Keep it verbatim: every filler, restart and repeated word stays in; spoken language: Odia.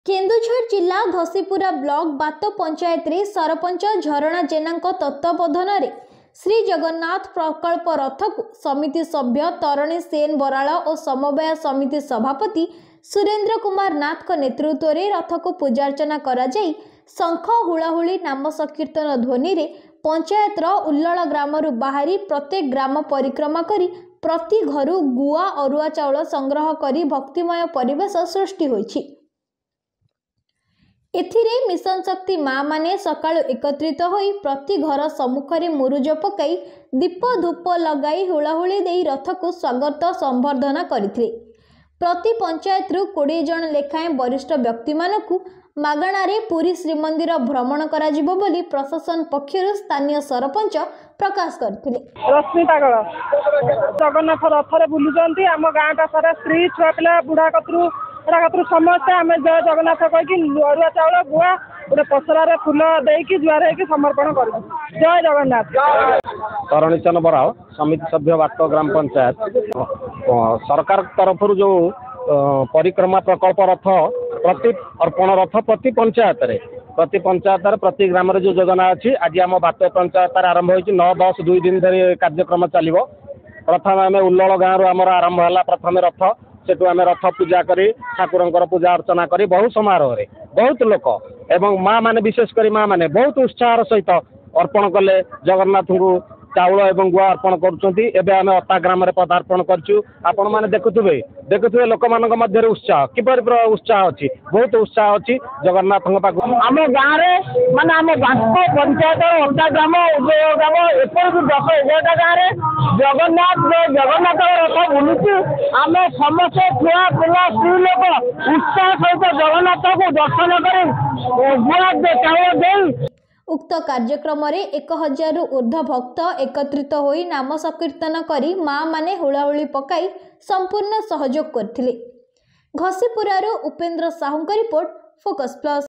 କେନ୍ଦୁଝର ଜିଲ୍ଲା ଘସିପୁରା ବ୍ଲକ ବାତ ପଞ୍ଚାୟତରେ ସରପଞ୍ଚ ଝରଣା ଜେନାଙ୍କ ତତ୍ତ୍ୱାବଧାନରେ ଶ୍ରୀ ଜଗନ୍ନାଥ ପ୍ରକଳ୍ପ ରଥକୁ ସମିତି ସଭ୍ୟ ତରଣୀ ସେନ ବରାଳ ଓ ସମବାୟ ସମିତି ସଭାପତି ସୁରେନ୍ଦ୍ର କୁମାର ନାଥଙ୍କ ନେତୃତ୍ୱରେ ରଥକୁ ପୂଜାର୍ଚ୍ଚନା କରାଯାଇ ଶଙ୍ଖ, ହୁଳହୁଳି, ନାମ ସଂକୀର୍ତ୍ତନ ଧ୍ୱନିରେ ପଞ୍ଚାୟତର ଉଲ୍ଲଳ ଗ୍ରାମରୁ ବାହାରି ପ୍ରତ୍ୟେକ ଗ୍ରାମ ପରିକ୍ରମା କରି ପ୍ରତି ଘରୁ ଗୁଆ, ଅରୁଆ ଚାଉଳ ସଂଗ୍ରହ କରି ଭକ୍ତିମୟ ପରିବେଶ ସୃଷ୍ଟି ହୋଇଛି। ଏଥିରେ ମିଶନ ଶକ୍ତି ମାଆମାନେ ସକାଳୁ ଏକତ୍ରିତ ହୋଇ ପ୍ରତି ଘର ସମ୍ମୁଖରେ ମୁରୁଜ ପକାଇ, ଦୀପ ଧୂପ ଲଗାଇ, ହୁଳହୁଳି ଦେଇ ରଥକୁ ସ୍ୱାଗତ ସମ୍ବର୍ଦ୍ଧନା କରିଥିଲେ। ପ୍ରତି ପଞ୍ଚାୟତରୁ କୋଡ଼ିଏ ଜଣ ଲେଖାଏଁ ବରିଷ୍ଠ ବ୍ୟକ୍ତିମାନଙ୍କୁ ମାଗଣାରେ ପୁରୀ ଶ୍ରୀମନ୍ଦିର ଭ୍ରମଣ କରାଯିବ ବୋଲି ପ୍ରଶାସନ ପକ୍ଷରୁ ସ୍ଥାନୀୟ ସରପଞ୍ଚ ପ୍ରକାଶ କରିଥିଲେ। ରଶ୍ମି ପାଗଳ। ଜଗନ୍ନାଥ ରଥରେ ବୁଲୁଛନ୍ତି। ଆମ ଗାଁଟା ସାରା ସ୍ତ୍ରୀ, ଛୁଆ ପିଲା, ବୁଢ଼ା କତରୁ ବୁଢ଼ା କତରୁ ସମସ୍ତେ ଆମେ ଜୟ ଜଗନ୍ନାଥ କହିକି ଅରୁଆ ଚାଉଳ, ଗୁଆ, ଗୋଟେ ପସରାରେ ଫୁଲ ଦେଇକି ଜୁହାର ହେଇକି ସମର୍ପଣ କରିବୁ। ଜୟ ଜଗନ୍ନାଥ। ତରଣୀଚନ ବରାଳ, ସମିତି ସଭ୍ୟ, ବାତ ଗ୍ରାମ ପଞ୍ଚାୟତ। ସରକାର ତରଫରୁ ଯେଉଁ ପରିକ୍ରମା ପ୍ରକଳ୍ପ ରଥ ପ୍ରତି ଅର୍ପଣ ରଥ ପ୍ରତି ପଞ୍ଚାୟତରେ ପ୍ରତି ପଞ୍ଚାୟତରେ ପ୍ରତି ଗ୍ରାମରେ ଯେଉଁ ଯୋଜନା ଅଛି, ଆଜି ଆମ ବାତ ପଞ୍ଚାୟତରେ ଆରମ୍ଭ ହୋଇଛି। ନଅ ଦଶ ଦୁଇ ଦିନ ଧରି କାର୍ଯ୍ୟକ୍ରମ ଚାଲିବ। ପ୍ରଥମେ ଆମେ ଉଲ୍ଲଳ ଗାଁରୁ ଆମର ଆରମ୍ଭ ହେଲା ପ୍ରଥମେ ରଥ। ସେଠୁ ଆମେ ରଥ ପୂଜା କରି, ଠାକୁରଙ୍କର ପୂଜା ଅର୍ଚ୍ଚନା କରି, ବହୁ ସମାରୋହରେ ବହୁତ ଲୋକ ଏବଂ ମା ମାନେ, ବିଶେଷ କରି ମା ମାନେ ବହୁତ ଉତ୍ସାହର ସହିତ ଅର୍ପଣ କଲେ। ଜଗନ୍ନାଥଙ୍କୁ ଚାଉଳ ଏବଂ ଗୁଆ ଅର୍ପଣ କରୁଛନ୍ତି। ଏବେ ଆମେ ଅତା ଗ୍ରାମରେ ପଦାର୍ପଣ କରିଛୁ। ଆପଣମାନେ ଦେଖୁଥିବେ ଦେଖୁଥିବେ ଲୋକମାନଙ୍କ ମଧ୍ୟରେ ଉତ୍ସାହ କିପରି ଉତ୍ସାହ ଅଛି, ବହୁତ ଉତ୍ସାହ ଅଛି ଜଗନ୍ନାଥଙ୍କ ପାଖକୁ। ଆମ ଗାଁରେ, ମାନେ ଆମ ବାଙ୍କ ପଞ୍ଚାୟତର ଅତା ଗ୍ରାମ, ଉଦୟ ଗ୍ରାମ, ଏପରିକି ଦଶ ଏଗାରଟା ଗାଁରେ ଜଗନ୍ନାଥ ଜଗନ୍ନାଥ ରଥ ବୁଲୁଛି। ଆମେ ସମସ୍ତେ ଛୁଆ ପିଲା, ସ୍ତ୍ରୀ ଲୋକ ଉତ୍ସାହ ସହିତ ଜଗନ୍ନାଥକୁ ଦର୍ଶନ କରି ଗୁଆ ଚାଉଳ ଦେଇ। ଉକ୍ତ କାର୍ଯ୍ୟକ୍ରମରେ ଏକ ହଜାରରୁ ଉର୍ଦ୍ଧ୍ୱ ଭକ୍ତ ଏକତ୍ରିତ ହୋଇ ନାମ ସଂକୀର୍ତ୍ତନ କରି ମାଆମାନେ ହୁଳହୁଳି ପକାଇ ସମ୍ପୂର୍ଣ୍ଣ ସହଯୋଗ କରିଥିଲେ। ଘସିପୁରାରୁ ଉପେନ୍ଦ୍ର ସାହୁଙ୍କ ରିପୋର୍ଟ, ଫୋକସ୍ ପ୍ଲସ୍।